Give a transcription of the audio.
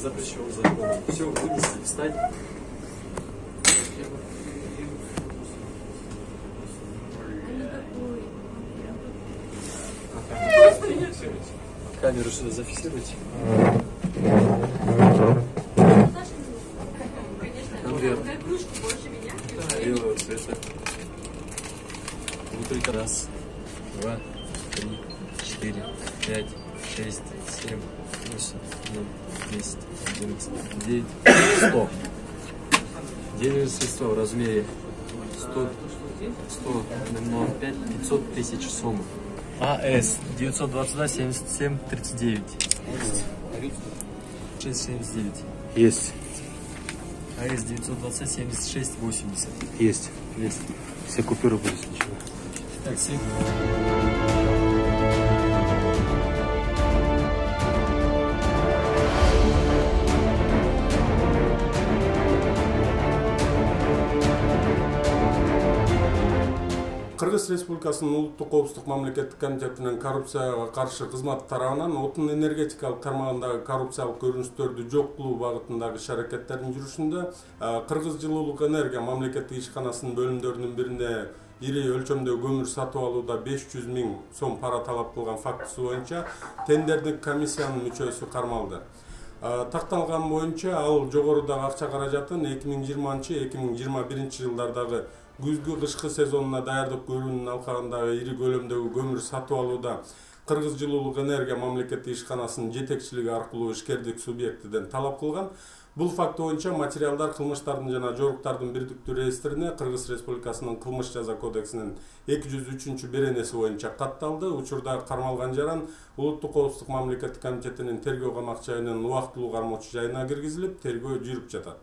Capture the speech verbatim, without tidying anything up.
запрещен законом. Все, вынести, встать. Камеру что зафиксируйте. Конверт. Белого цвета. Внутри раз, два, три, четыре, пять, шесть, семь, восемь, девять, десять, одиннадцать, девять, сто. Денежные средства в размере сто, сто, ноль пять, пятьсот тысяч сом. АС девятьсот двадцать два семьдесят семь тридцать девять. шесть семьдесят девять. Есть. АС девятьсот двадцать семьдесят шесть восемьдесят. Есть. Есть. Все купюры были сничены. Такси. Кыргыз Республикасынын улуттук коопсуздук мамлекеттик комитетинин коррупцияга каршы кызматы тарабынан отун энергетикалык тармагындагы коррупциялык көрүнүштөрдү жок кылуу багытындагы иш-аракеттердин жүрүшүндө Кыргыз жылуулук энергия мамлекеттик ишканасынын бөлүмдөрүнүн бирине ири өлчөмдө көмүр сатып алууда беш жүз миң сом пара талап кылган фактысы боюнча тендердик комиссиянын мүчөсү кармалды. Такталган боюнча ал жогорудагы акча каражатын эки миң жыйырманчы эки миң жыйырма биринчи жылдардагы күзгү кышкы сезонуна даярдык көрүүнүн алкагындагы ири көлөмдөгү көмүр сатып алууда Кыргыз жылуулук энергия мамлекеттик ишканасынын жетекчилиги аркылуу ишкердик субъектиден талап кылган. Бул факт боюнча материалдар кылмыштардын жана жоруктардын бирдиктүү реестрине Кыргыз Республикасынын кылмыш жаза кодексинин эки жүз үчүнчү беренеси боюнча катталды. Учурда кармалган жаран улуттук коопсуздук мамлекеттик комитетинин тергөө камак жайынын убактылуу кармоочу жайына киргизилип, тергөө жүрүп жатат.